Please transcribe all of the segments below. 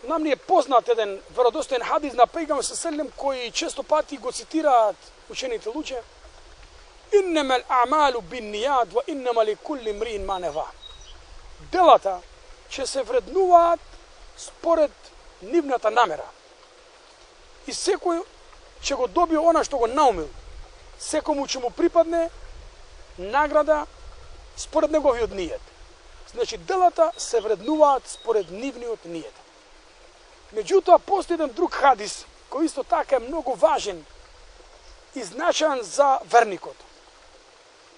нам ни е познат еден веродостоен хадис на пејгамбер селем кој често пати го цитираат учените луѓе. Иннама ал-а'малу бин-нијат ва иннама ликулли имриин ма нава. Делата ќе се вреднуваат според нивната намера. И секој ќе го добие она што го наумил. Секому ќе му припадне награда според неговиот нијет. Значи, делата се вреднуваат според нивниот нијет. Меѓутоа, постои еден друг хадис, кој исто така е многу важен и значаен за верникот.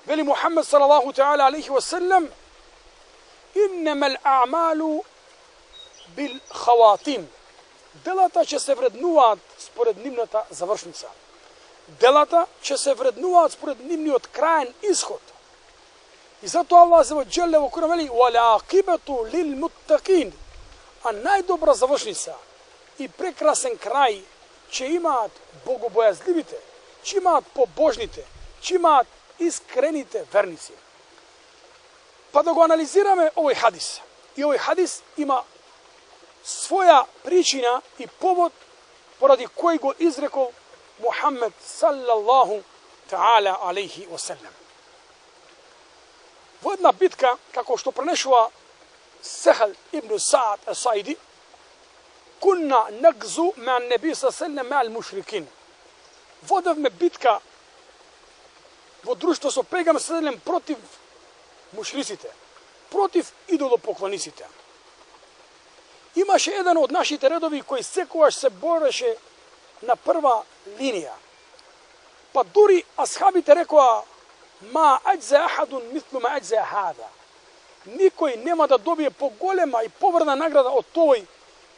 Вели Мухаммед салалаху таала алейхи ва селем: иннама ал-а'малу бил хаватим. Делата ќе се вреднуваат според нивната завршница. Делата ќе се вреднуваат според нивниот краен исход. И затоа Аллах азza wa jalla во Куран вели: "Вал'ақибату лил-муттақин", а најдобра завршница и прекрасен крај ќе имаат богобојазливите, ќе имаат побожните, ќе имаат искрените верници. Па да го анализираме овој хадис. И овој хадис има своја причина и повод поради кој го изрекол Мухаммед саллаллаху таала алейхи ва селем. Во една битка, како што пренешува Сехел ибн Саад ас-Саиди, кунна нагзу ма неби саллаллаху ма ал-мушрикин. Водевме битка во друштво со пејгамбер саллаллаху против мушриците, против идолопоклониците. Имаше еден од нашите редови кој секогаш се бореше на прва линија. Па дури асхабите рекоа: ма ајза ахадун мислу ма ајза хада. Никој нема да добие поголема и поврна награда од тој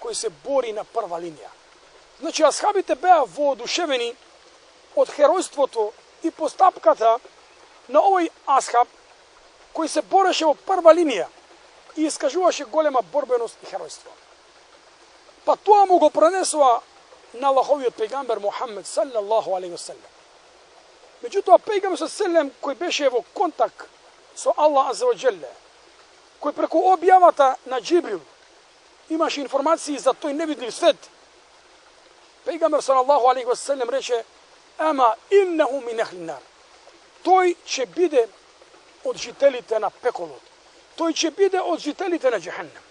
кој се бори на прва линија. Значи, асхабите беа воодушевени од херојството и постапката на овој асхаб кој се бореше во прва линија и искажуваше голема борбеност и херојство. Па тоа му го пренесува на Аллаховиот пејгамбер Мухаммед саллаллаху алейхи ва селем. Меѓутоа, пејгамбер селем кој беше во контакт со Аллах азza wa jalla, кој преку објавата на Џибрил имаше информации за тој невидлив свет, пејгамбер саллаллаху алейхи ва селем рече: ама иннаху мин ахли нар. Тој ќе биде од жителите на пеколот. Тој ќе биде од жителите на џехеннем.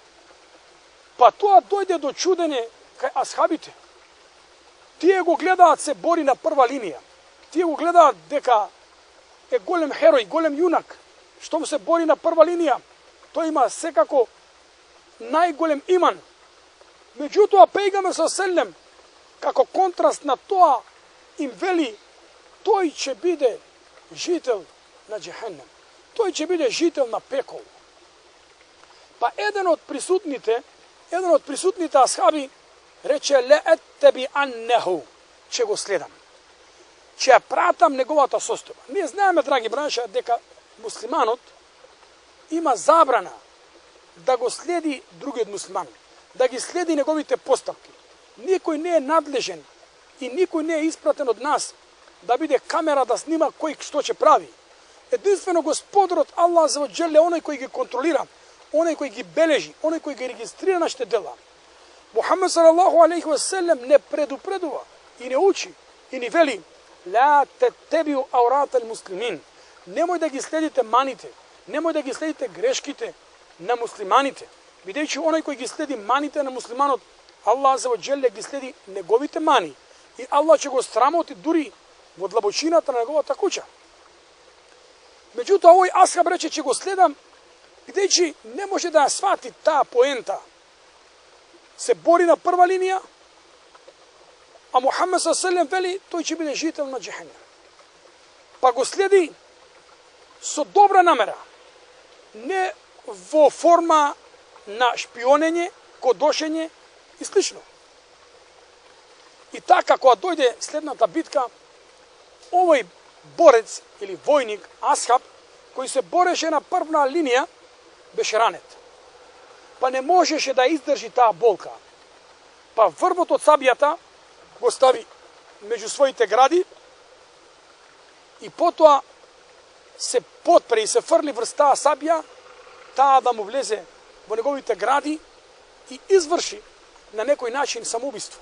Па тоа дојде до чудење кај асхабите. Тие го гледаат се бори на прва линија. Тие го гледаат дека е голем херој, голем јунак, што му се бори на прва линија. Тој има секако најголем иман. Меѓутоа, пејгамбер саллаллаху како контраст на тоа им вели: тој ќе биде жител на џехеннем. Тој ќе биде жител на пекол. Па еден од присутните асхаби рече: ле еттеби аннеху, ќе го следам. Ќе ја пратам неговата состојба. Ние знаеме, драги браќа, дека муслиманот има забрана да го следи другиот муслиман, да ги следи неговите постапки. Никој не е надлежен и никој не е испратен од нас да биде камера да снима кој што ќе прави. Единствено Господарот Аллах азza wa jalla е оној кој ги контролира, оној кој ги бележи, оној кој ги регистрира нашите дела. Мухаммед салаллаху алейхи ва селем не предупредува и не учи и ни вели: ла таттабиу аурат ал-муслимин. Немој да ги следите маните, немој да ги следите грешките на муслиманите, бидејќи оној кој ги следи маните на муслиманот, Аллах азza wa jalla ги следи неговите мани и Аллах ќе го срамоти дури во длабочината на неговата куќа. Меѓутоа, овој асхаб рече: ќе го следам, бидејќи не може да ја свати таа поента. Се бори на прва линија, а Мухаммед саллаллаху вели: тој ќе биде жител на џехеннем. Па го следи со добра намера, не во форма на шпионење, кодошење и слично. И така, кога дојде следната битка, овој борец или војник, асхаб, кој се бореше на првна линија, беше ранет. Па не можеше да издржи таа болка. Па врвот од сабијата го стави меѓу своите гради и потоа се потпре и се фрли врз таа сабија, таа да му влезе во неговите гради и изврши на некој начин самоубиство.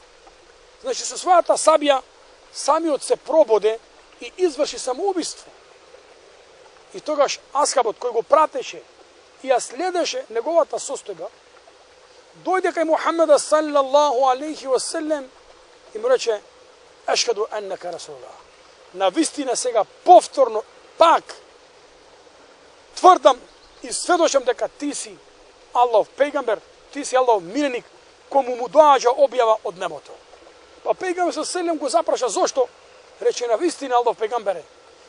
Значи, со својата сабија, самиот се прободе и изврши самоубиство. И тогаш асхабот кој го пратеше и ја следеше неговата состојба, дојде кај Мухаммеда саллаллаху алейхи ва селем и му рече: "Ашхаду аннака расулуллах." На вистина сега повторно пак тврдам и сведочам дека ти си Аллахов пејгамбер, ти си Аллахов миленик, кому му доаѓа објава од небото. Па пејгамбер со селем го запраша зошто? Рече: на вистина Аллахов пејгамбере,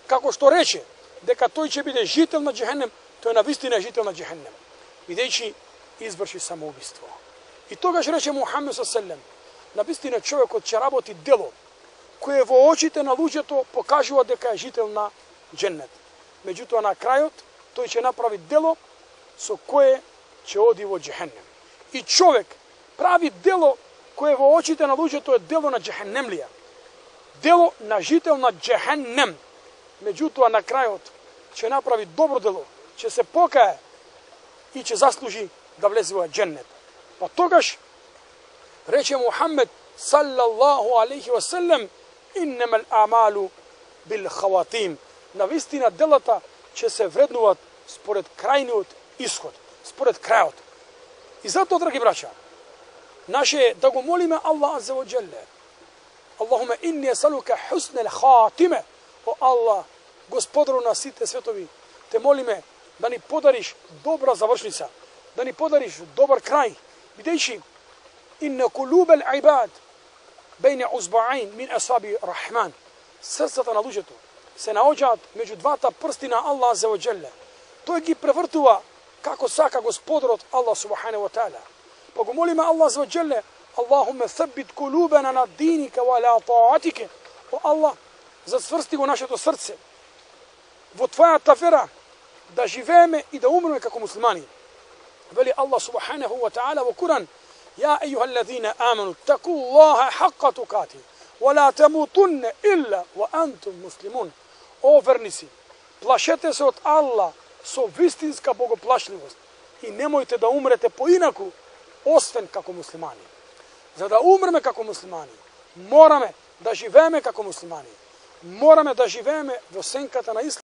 како што рече дека тој ќе биде жител на џехенем, тој на вистина е жител на џехенем, бидејќи изврши самоубиство. И тогаш рече Мухаммед со селем: на вистина човекот ќе работи дело кое во очите на луѓето покажува дека е жител на џеннет. Меѓутоа на крајот тој ќе направи дело со кое ќе оди во џехенем. И човек прави дело кое во очите на луѓето е дело на џехенемлија, дело на жител на џехенем. Меѓутоа на крајот ќе направи добро дело, ќе се покае и ќе заслужи да влезе во џеннет. Па тогаш рече Мухаммед саллаллаху алейхи ва селем: "Иннамал а'малу бил хаватим." На вистина делата ќе се вреднуваат според крајниот исход, според крајот. И затоа, драги браќа, наше да го молиме Аллах азза ва џелле: "Аллахуме инни есалука хуснел хатиме." О Аллах, Господару на сите светови, те молиме да ни подариш добра завршница, да ни подариш добар крај, бидејќи инна кулубел ибад бейне узбаин мин асаби рахман. Срцата на луѓето се наоѓаат меѓу двата прсти на Аллах азза ва џелле. Тој ги превртува како сака Господарот Аллах субханаху ва таала. Па го молиме Аллах азза ва џелле: "Аллахуме ثبت قلوبنا на диника ва ала таатика." О Аллах, зацврсти го нашето срце во твојата вера, да живееме и да умреме како муслимани. Вели Аллах субханаху ва таала во Куран: "Я ејуха аллазина аману такуллаха хакка тукати ва ла тамутунна илла ва антум муслимун." О верници, плашете се од Аллах со вистинска богоплашливост и немојте да умрете поинаку освен како муслимани. За да умреме како муслимани, мораме да живееме како муслимани. Мораме да живееме во сенката на